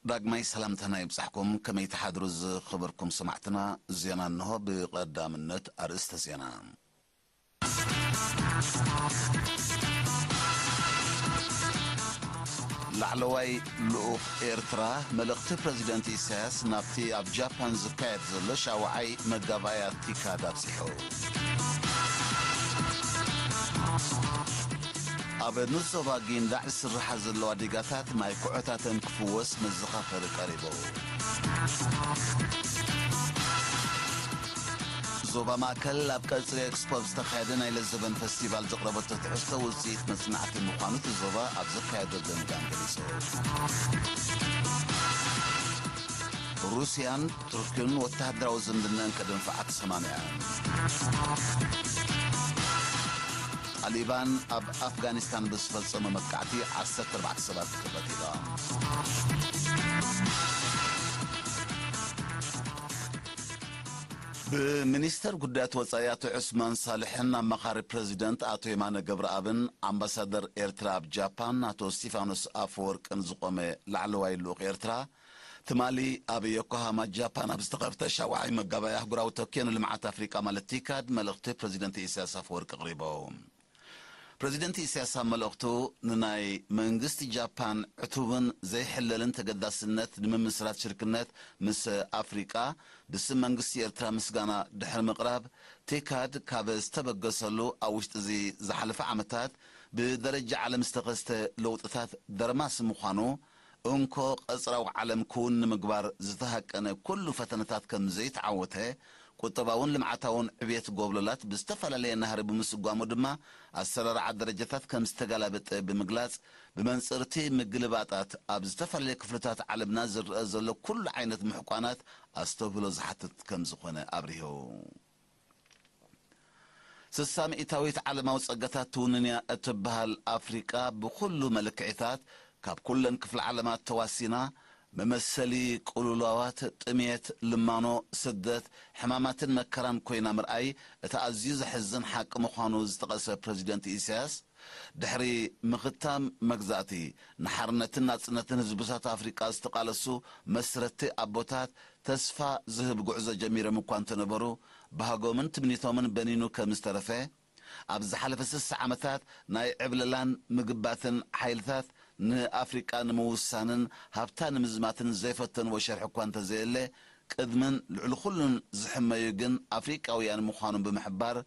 ዳግማይ ሰላምታና ይብጻሕኩም። ከመይ ትሓድሩ ዝኸበርኩም ሰማዕትና? ዜና እንሆ። ብቐዳምነት ኣርእስተ ዜና። ላዕለዋይ ልኡኽ ኤርትራ፣ መልእኽቲ ፕረዚደንት ኢሳያስ ናብቲ ኣብ ጃፓን ዝካየድ ዘሎ ሻውዓይ መጋባእያ ቲካድ ኣብጺሑ። ኣብ ንዞባ ጊንዳዕ ዝስርሓ ዘለዋ ዲጋታት ማይ ኩዖታተን ክፍወስ መዘኻኸሪ ቀሪቡ። ዞባ ማእከል ኣብ ቀጽሪ ኤክስፖ ኣብ ዝተኻየደ ናይ ለዘበን ፈስቲቫል ዘቕረበቶ ትሕዝቶ ውጽኢት መጽናዕቲ ምዃኑ እቲ ዞባ ኣብ ዘካየዶ ገምጋም ገሊጹ። ሩስያን ቱርክን ወተሃደራዊ ዝምድናን ከደንፍዓ ተሰማሚዐን። ጣሊባን ኣብ ኣፍጋኒስታን ብዝፈጸሞ መጥቃዕቲ ዓሰርተ ኣርባዕተ ሰባት ተቐቲሎም። ብሚኒስተር ጉዳያት ወጻኢ ኣቶ ዑስማን ሳልሕን ኣማኻሪ ፕረዚደንት ኣቶ የማነ ገብረኣብን ኣምባሳደር ኤርትራ ኣብ ጃፓን ኣቶ እስቲፋኖስ ኣፈወርቅን ዝቖመ ላዕለዋይ ልኡኽ ኤርትራ፣ ትማሊ ኣብ ዮኮሃማ ጃፓን ኣብ ዝተኸፍተ ሻውዓይ መጋባእያ ኣህጉራዊ ቶኪዮ ንልምዓት ኣፍሪቃ ማለት ቲካድ መልእኽቲ ፕረዚደንት ኢሳያስ ኣፈወርቂ ኣቕሪቡ። ፕረዚደንት ኢሳያስ ኣብ መልእኽቱ፣ ንናይ መንግስቲ ጃፓን ዕቱብን ዘይሕለልን ተገዳስነት ንምምስራት ሽርክነት ምስ ኣፍሪቃ ብስም መንግስቲ ኤርትራ ምስጋና ድሕሪ ምቕራብ፣ ቲካድ ካብ ዝተበገሰሉ ኣብ ውሽጢ እዚ ዝሓለፈ ዓመታት ብደረጃ ዓለም ዝተኸስተ ለውጥታት ደርማስ ምዃኑ፣ እንኮ ቀጽራዊ ዓለም ክውን ንምግባር ዝተሃቀነ ኩሉ ፈተነታት ከም ዘይተዓወተ፣ ቁጠባውን ልምዓታውን ዕብየት ጎብለላት ብዝተፈላለየ ናህሪ ብምስጓሙ ድማ ኣሰራርዓ ደረጃታት ከም ዝተገላበጠ ብምግላጽ፣ ብመንጽር እቲ ምግልባጣት ኣብ ዝተፈላለየ ክፍልታት ዓለምና ዝረኣ ዘሎ ኩሉ ዓይነት ምሕቋናት ኣስተብህሎ ዝሓትት ከም ዝኾነ ኣብሪሁ። ስሳ ሚእታዊት ዓለማዊ ጸጋታት ትውንን እያ እትበሃል ኣፍሪቃ ብኹሉ መልክዕታት ካብ ኩለን ክፍለ ዓለማት ተዋሲና መመሰሊ ቅሉላዋት፣ ጥሜት፣ ልማኖ፣ ስደት፣ ሕማማትን መከራን ኮይና ምርኣይ እቲ ኣዝዩ ዘሕዝን ሓቂ ምዃኑ ዝጠቐሰ ፕረዚደንት ኢሳያስ፣ ድሕሪ ምኽታም መግዛእቲ፣ ንሓርነትን ናጽነትን ህዝብታት ኣፍሪቃ ዝተቓለሱ መስረቲ ኣቦታት ተስፋ ዝህብ ጉዕዞ ጀሚሮም እኳ እንተነበሩ፣ ባህጎምን ትምኒቶምን በኒኑ ከም ዝተረፈ፣ ኣብ ዝሓለፈ ስሳ ዓመታት ናይ ዕብለላን ምግባትን ሓይልታት ንኣፍሪቃ ንምውሳንን ሃብታ ንምዝማትን ዘይፈተንዎ ሸርሒ እኳ እንተዘየለ፣ ቅድምን ልዕሊ ኩሉን ዝሕመዩ ግን ኣፍሪቃውያን ምዃኖም ብምሕባር፣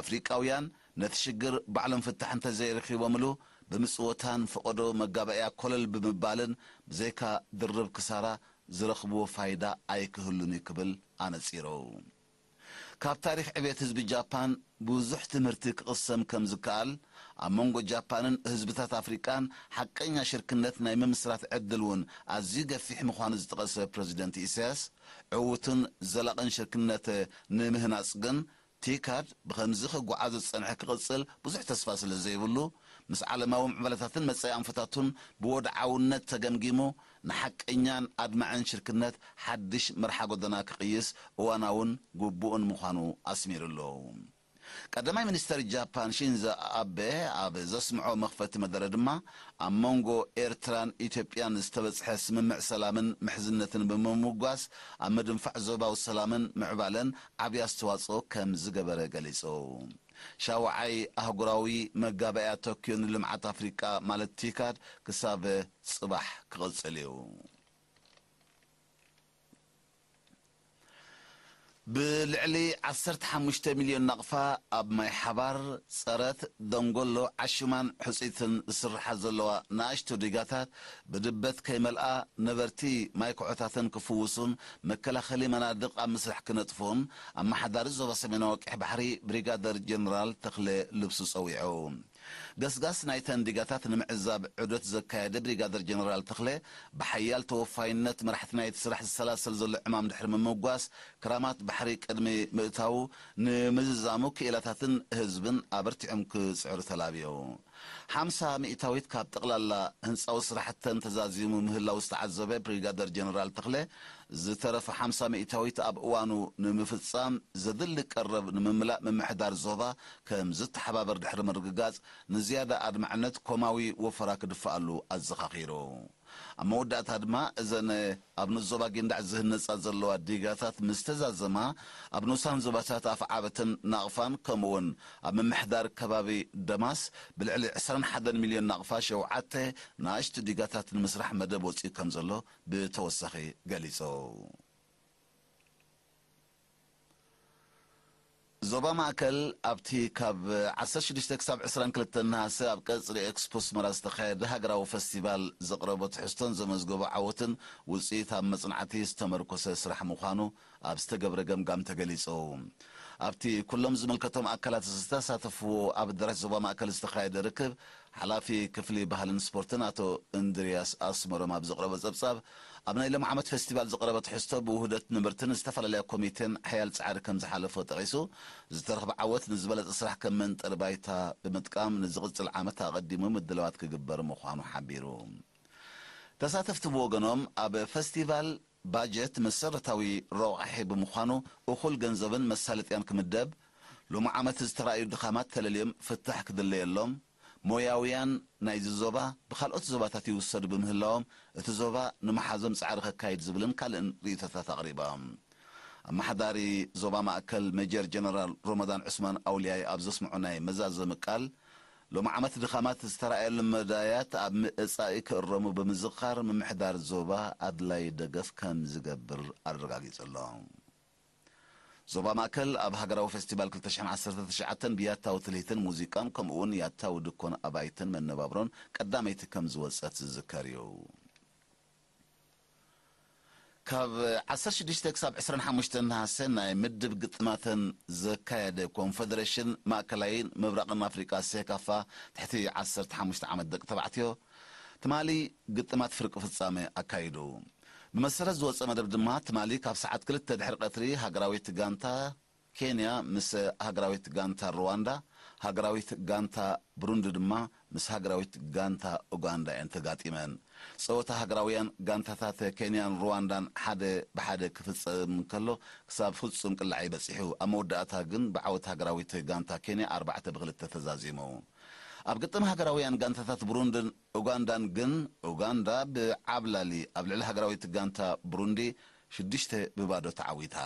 ኣፍሪቃውያን ነቲ ሽግር ባዕሎም ፍታሕ እንተዘይረኺቦምሉ፣ ብምጽወታን ፈቐዶ መጋባእያ ኮለል ብምባልን ብዘይካ ድርብ ክሳራ ዝረኽብዎ ፋይዳ ኣይክህሉን እዩ ክብል ኣነጺሩ። ካብ ታሪኽ ዕቤት ህዝቢ ጃፓን ብዙሕ ትምህርቲ ክቕሰም ከም ዝከኣል፣ ኣብ መንጎ ጃፓንን ህዝብታት ኣፍሪቃን ሓቀኛ ሽርክነት ናይ ምምስራት ዕድል እውን ኣዝዩ ገፊሕ ምዃኑ ዝጠቐሰ ፕረዚደንት ኢሳያስ፣ ዕዉትን ዘላቕን ሽርክነት ንምህናጽ ግን ቲካድ ብኸምዚ ክጓዓዝ ዝጸንሐ ክቕጽል ብዙሕ ተስፋ ስለ ዘይብሉ፣ ምስ ዓለማዊ ምዕባለታትን መጻኢ ኣንፈታቱን ብወድዓውነት ተገምጊሙ፣ ንሓቀኛን ኣድማዕን ሽርክነት ሓድሽ መርሓ ጎደና ክቕይስ እዋናውን ግቡእን ምዃኑ ኣስሚሩሉ። ቀዳማይ ሚኒስተር ጃፓን ሺንዞ ኣቤ ኣብ ዘስምዖ መኽፈቲ መደረ ድማ፣ ኣብ መንጎ ኤርትራን ኢትዮጵያን ዝተበጽሐ ስምምዕ ሰላምን ምሕዝነትን ብምምጓስ፣ ኣብ ምድንፋዕ ዞባዊ ሰላምን ምዕባለን ዓቢ ኣስተዋጽኦ ከም ዝገበረ ገሊጹ። ሻውዓይ ኣህጉራዊ መጋባእያ ቶክዮ ንልምዓት ኣፍሪቃ ማለት ቲካድ ክሳብ ጽባሕ ክቕጽል እዩ። ብልዕሊ ዓሰርተ ሓሙሽተ ሚልዮን ናቕፋ ኣብ ማይ ሓባር፣ ጸረት፣ ደንጎሎ፣ ዓሹማን ሕጹይትን ዝስርሓ ዘለዋ ንኣሽቱ ዲጋታት ብድበት ከይመልኣ ነበርቲ ማይ ኩሖታተን ክፍውሱን መከላኸሊ መናድቕ ኣብ ምስራሕ ክነጥፉን ኣመሓዳሪ ዞባ ሰሜናዊ ቀይሕ ባሕሪ ብሪጋደር ጀነራል ተኽለ ልብሱ ጸዊዑ። ገስጋስ ናይተን ዲጋታት ንምዕዛብ ዑደት ዘካየደ ብሪጋደር ጀነራል ተኽለ፣ ብሓያል ተወፋይነት መራሕቲ ናይቲ ስራሕ ዝሰላሰል ዘሎ ዕማም ድሕሪ ምምጓስ፣ ክራማት ባሕሪ ቅድሚ ምእታዉ ንምዝዛሙ ክኢላታትን ህዝብን ኣበርቲዖም ክጽዕሩ ተላብዮ። ሓምሳ ሚእታዊት ካብ ጠቕላላ ህንፃዊ ስራሕተን ተዛዚሙ ምህላው ዝተዓዘበ ብሪጋደር ጀነራል ተኽለ፣ ዝተረፈ ሓምሳ ሚእታዊት ኣብ እዋኑ ንምፍፃም ዘድሊ ቀረብ ንምምላእ ምምሕዳር ዞባ ከም ዝተሓባበር ድሕሪ ምርግጋፅ፣ ንዝያዳ ኣድማዕነት ኮማዊ ወፈራ ክድፍኣሉ ኣዘኻኺሩ። ኣብ መወዳእታ ድማ እዘን ኣብ ንኡስ ዞባ ጊንዳዕ ዝህነጻ ዘለዋ ዲጋታት ምስ ተዛዘማ፣ ኣብ ንኡሳን ዞባታት ኣፍዓበትን ናቕፋን ከምኡውን ኣብ ምምሕዳር ከባቢ ደማስ ብልዕሊ ዕስራን ሓደን ሚልዮን ናቕፋ ሸውዓተ ንኣሽቱ ዲጋታት ንምስራሕ መደብ ወጺኡ ከም ዘሎ ብተወሳኺ ገሊጹ። ዞባ ማእከል ኣብቲ ካብ ዓሰርተ ሽዱሽተ ክሳብ ዕስራን ክልተን ነሃሰ ኣብ ቀጽሪ ኤክስፖ ኣስመራ ዝተኻየደ ሃገራዊ ፈስቲቫል ዘቕረቦ ትሕዝቶን ዘመዝገቦ ዓወትን ውጽኢት ኣብ መጽናዕቲ ዝተመርኮሰ ስራሕ ምዃኑ ኣብ ዝተገብረ ገምጋም ተገሊጹ። ኣብቲ ኩሎም ዝምልከቶም ኣካላት ዝተሳተፍዎ ኣብ ኣዳራሽ ዞባ ማእከል ዝተኻየደ ርክብ፣ ሓላፊ ክፍሊ ባህልን ስፖርትን ኣቶ እንድርያስ ኣስመሮም ኣብ ዘቕረቦ ጸብጻብ፣ ኣብ ናይ ሎም ዓመት ፌስቲቫል ዝቐረበ ትሕዝቶ ብውህደት ነበርትን ዝተፈላለያ ኮሚቴን ሓያል ጻዕሪ ከም ዝሓለፎ ጠቒሱ፣ ዝተረኽበ ዓወት ንዝበለጸ ስራሕ ከም መንጠሪ ባይታ ብምጥቃም ንዝቕጽል ዓመት ኣቐዲሙ ምድላዋት ክግበር ምዃኑ ሓቢሩ። ተሳተፍቲ ብወገኖም፣ ኣብ ፈስቲቫል ባጀት መሰረታዊ ረቋሒ ብምዃኑ፣ እኹል ገንዘብን መሳለጥያን ክምደብ፣ ሎም ዓመት ዝተራእዩ ድኻማት ተለልዮም ፍታሕ ክድለየሎም፣ ሞያውያን ናይዚ ዞባ ብኻልኦት ዞባታት ይውሰዱ ብምህላዎም፣ እቲ ዞባ ንምሓዞም ጻዕሪ ከካይድ ዝብልን ካልእን ርእይቶታት ኣቕሪቦም። ኣመሓዳሪ ዞባ ማእከል ሜጀር ጀነራል ሮመዳን ዑስማን ኣውልያይ ኣብ ዘስምዖ ናይ መዛዘሚ ቃል፣ ሎም ዓመት ድኻማት ዝተራእየሎም መዳያት ኣብ ምእጻኢ ክእረሙ ብምዝኻር፣ ምምሕዳር ዞባ ኣድላይ ደገፍ ከም ዝገብር ኣረጋጊጹ ኣሎ። ዞባ ማእከል ኣብ ሃገራዊ ፌስቲቫል ክልተ ሽሕን ዓሰርተ ትሽዓተን ብያታዊ ትልሂትን ሙዚቃን ከምኡውን ያታዊ ድኮን ኣባይትን መነባብሮን ቀዳመይቲ ከም ዝወጸት ዝዝከር እዩ። ካብ ዓሰርተ ሽዱሽተ ክሳብ ዕስራን ሓሙሽተን ነሃሰ ናይ ምድብ ግጥማተን ዘካየደ ኮንፈደሬሽን ማእከላይን ምብራቕን ኣፍሪቃ ሴካፋ ትሕቲ ዓሰርተ ሓሙሽተ ዓመት ደቂ ተባዕትዮ ትማሊ ግጥማት ፍርቂ ፍጻመ ኣካይዱ። ብመሰረት ዝወጸ መደብ ድማ ትማሊ ካብ ሰዓት ክልተ ድሕሪ ቀትሪ ሃገራዊት ጋንታ ኬንያ ምስ ሃገራዊት ጋንታ ሩዋንዳ፣ ሃገራዊት ጋንታ ብሩንዲ ድማ ምስ ሃገራዊት ጋንታ ኡጋንዳ እየን ተጋጢመን። ጸወታ ሃገራውያን ጋንታታት ኬንያን ሩዋንዳን ሓደ ብሓደ ክፍጸም እንከሎ፣ ክሳብ ፍጹም ቅላዕ ይበጺሑ። ኣብ መወዳእታ ግን ብዓወት ሃገራዊት ጋንታ ኬንያ ኣርባዕተ ብክልተ ተዛዚሙ። ኣብ ግጥም ሃገራውያን ጋንታታት ብሩንድን ኡጋንዳን ግን፣ ኡጋንዳ ብዓብላሊ ኣብ ልዕሊ ሃገራዊት ጋንታ ብሩንዲ ሽዱሽተ ብባዶ ተዓዊታ።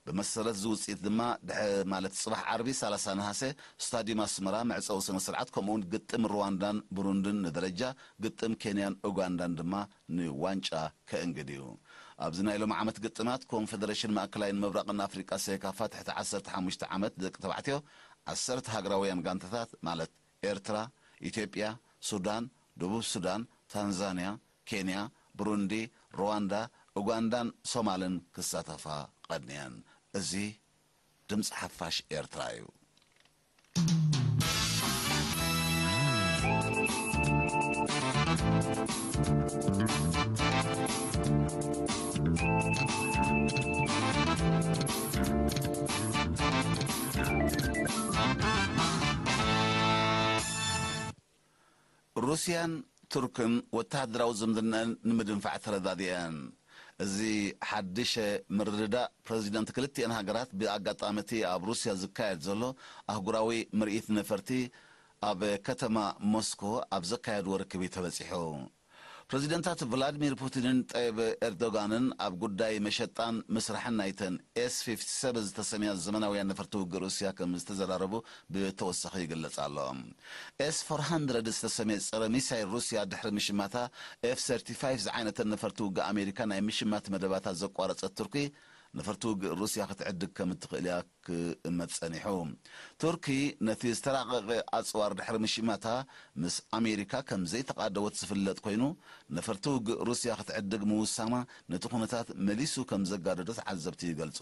ብመሰረት እዚ ውጽኢት ድማ፣ ድሐ-፣ ማለት ጽባሕ ዓርቢ ሰላሳ ነሃሰ፣ ስታዲየም ኣስመራ መዕጸዊ ስነ ስርዓት፣ ከምኡውን ግጥም ሩዋንዳን ብሩንድን ንደረጃ፣ ግጥም ኬንያን ኡጋንዳን ድማ ንዋንጫ ከእንግድ እዩ። ኣብዚ ናይ ሎም ዓመት ግጥማት፣ ኮንፈደሬሽን ማእከላይን ምብራቕን ኣፍሪቃ ሴካፋ ትሕቲ ዓሰርተ ሓሙሽተ ዓመት ደቂ ተባዕትዮ፣ ዓሰርተ ሃገራውያን ጋንታታት፣ ማለት ኤርትራ፣ ኢትዮጵያ፣ ሱዳን፣ ደቡብ ሱዳን፣ ታንዛንያ፣ ኬንያ፣ ብሩንዲ፣ ሩዋንዳ፣ ኡጋንዳን ሶማልን ክሳተፋ ቀንየን። እዚ ድምፂ ሓፋሽ ኤርትራ እዩ። ሩስያን ቱርክን ወተሃደራዊ ዝምድናን ንምድንፋዕ ተረዳዲአን። እዚ ሓድሽ ምርድዳእ ፕረዚደንት ክልቲአን ሃገራት ብኣጋጣሚ እቲ ኣብ ሩስያ ዝካየድ ዘሎ ኣህጉራዊ ምርኢት ነፈርቲ ኣብ ከተማ ሞስኮ ኣብ ዘካየድዎ ርክብ እዩ ተበጺሑ። ፕረዚደንታት ቭላድሚር ፑቲንን ጠይብ ኤርዶጋንን ኣብ ጉዳይ መሸጣን ምስራሕን ናይተን ኤስ ፊፍቲ ሰቨን ዝተሰምያ ዘመናውያን ነፈርቲ ውግእ ሩስያ ከም ዝተዘራረቡ ብተወሳኺ ይግለጽ ኣሎ። ኤስ ፎር ሃንድረድ ዝተሰምየ ጸረ ሚሳይል ሩስያ ድሕሪ ምሽማታ፣ ኤፍ ሰርቲ ፋይቭ ዝዓይነተን ነፈርቲ ውግእ ኣሜሪካ ናይ ምሽማት መደባታ ዘቋረጸት ቱርኪ፣ ነፈርቲ ውግእ ሩስያ ክትዕድግ ከም እትኽእል እያ ክእመት ጸኒሑ። ቱርኪ ነቲ ዝተራቐቐ ኣጽዋር ድሕሪ ምሽማታ፣ ምስ ኣሜሪካ ከም ዘይተቓደወት ዝፍለጥ ኮይኑ፣ ነፈርቲ ውግእ ሩስያ ክትዕድግ ምውሳና ነቲ ኩነታት መሊሱ ከም ዘጋደዶ ተዓዘብቲ ይገልጹ።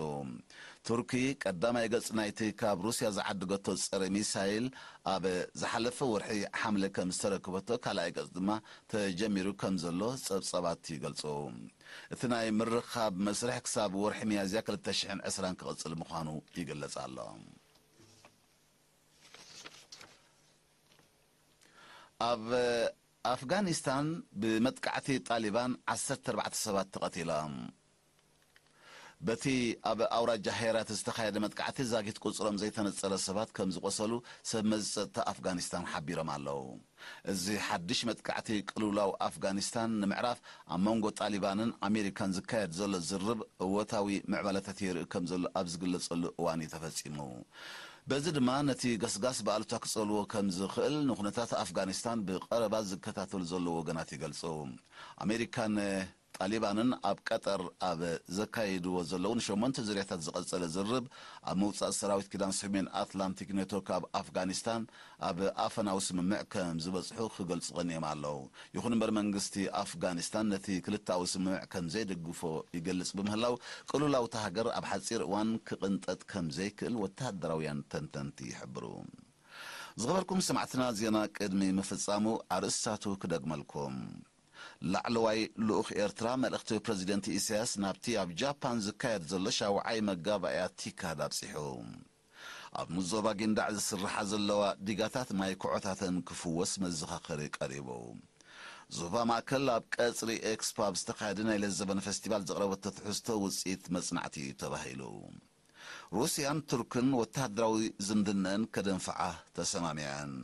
ቱርኪ ቀዳማይ ገጽ ናይቲ ካብ ሩስያ ዝዓደገቶ ጸረ ሚሳይል ኣብ ዝሓለፈ ወርሒ ሓምለ ከም ዝተረከበቶ፣ ካልኣይ ገጽ ድማ ተጀሚሩ ከም ዘሎ ጸብጻባት ይገልጹ። እቲ ናይ ምርኻብ መስርሕ ክሳብ ወርሒ ሚያዝያ ክልተ ሽሕን ዕስራን ክቕጽል ምዃኑ ይግለጽ ኣሎ። ኣብ ኣፍጋኒስታን ብመጥቃዕቲ ጣሊባን ዓሰርተ ኣርባዕተ ሰባት ተቐቲሎም። በቲ ኣብ ኣውራጃ ሄራት ዝተኻየደ መጥቃዕቲ ዛጊት ቁጽሮም ዘይተነጸረ ሰባት ከም ዝቖሰሉ ሰብ መዚ ጸጥታ ኣፍጋኒስታን ሓቢሮም ኣለዉ። እዚ ሓድሽ መጥቃዕቲ ቅልውላው ኣፍጋኒስታን ንምዕራፍ ኣብ መንጎ ጣሊባንን ኣሜሪካን ዝካየድ ዘሎ ዝርርብ እወታዊ ምዕባለታት የርኢ ከም ዘሎ ኣብ ዝግለጸሉ እዋን እዩ ተፈጺሙ። በዚ ድማ ነቲ ገስጋስ ብኣሉታ ክጸልዎ ከም ዝኽእል ንኩነታት ኣፍጋኒስታን ብቐረባ ዝከታተሉ ዘለዉ ወገናት ይገልጹ። ኣሜሪካን ጣሊባንን ኣብ ቀጠር ኣብ ዘካየድዎ ዘለዉ ንሸሞንተ ዙርያታት ዝቐጸለ ዝርርብ ኣብ ምውጻእ ሰራዊት ኪዳን ሰሜን ኣትላንቲክ ኔቶ ካብ ኣፍጋኒስታን ኣብ ኣፈናዊ ስምምዕ ከም ዝበጽሑ ክገልጹ ቀኒዮም ኣለዉ። ይኹን እምበር መንግስቲ ኣፍጋኒስታን ነቲ ክልተኣዊ ስምምዕ ከም ዘይደግፎ ይገልጽ ብምህላው ቅልውላው እታ ሃገር ኣብ ሓጺር እዋን ክቕንጠጥ ከም ዘይክእል ወተሃደራውያን ተንተንቲ ይሕብሩ። ዝኸበርኩም ሰማዕትና ዜና ቅድሚ ምፍጻሙ ኣርእስታቱ ክደግመልኩም። ላዕለዋይ ልኡኽ ኤርትራ መልእኽቲ ፕረዚደንት ኢሳያስ ናብቲ ኣብ ጃፓን ዝካየድ ዘሎ ሻውዓይ መጋባእያ ቲካድ ኣብጺሑ። ኣብ ምዞባ ጊንዳዕ ዝስርሓ ዘለዋ ዲጋታት ማይ ኩዖታተን ክፍወስ መዘኻኸሪ ቀሪቡ። ዞባ ማእከል ኣብ ቀጽሪ ኤክስፖ ኣብ ዝተኻየደ ናይ ለዘበን ፈስቲቫል ዘቕረበቶ ትሕዝቶ ውጽኢት መጽናዕቲ እዩ ተባሂሉ። ሩስያን ቱርክን ወተሃደራዊ ዝምድነን ከደንፍዓ ተሰማሚዐን።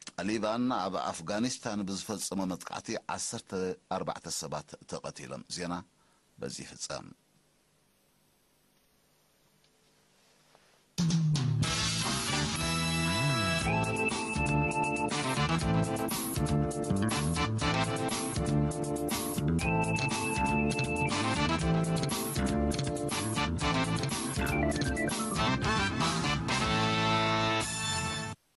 ጣሊባን ኣብ ኣፍጋኒስታን ብዝፈጸሞ መጥቃዕቲ ዓሰርተ ኣርባዕተ ሰባት ተቐቲሎም። ዜና በዚ ይፍጸም።